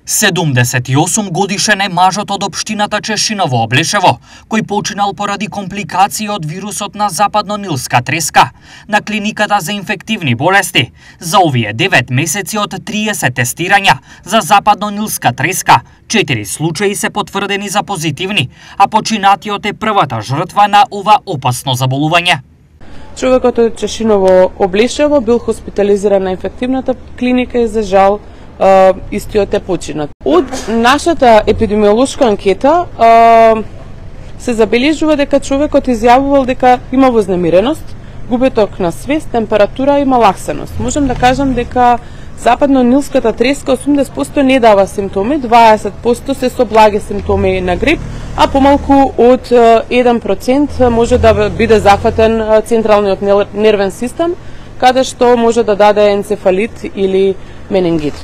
78 годишен е мажот од општината Чешиново Облешево, кој починал поради компликации од вирусот на западно-нилска треска на клиниката за инфективни болести. За овие 9 месеци од 30 тестирања за западно-нилска треска, 4 случаи се потврдени за позитивни, а починатиот е првата жртва на ова опасно заболување. Човекот од Чешиново Облешево бил хоспитализиран на инфективната клиника и за жал истиот е починат. Од нашата епидемиолошка анкета се забележува дека човекот изјавувал дека има вознемиреност, губеток на свест, температура и малаксеност. Можам да кажам дека западно-нилската треска 80% не дава симптоми, 20% се со благи симптоми на грип, а помалку од 1% може да биде зафатен централниот нервен систем, каде што може да даде енцефалит или менингит.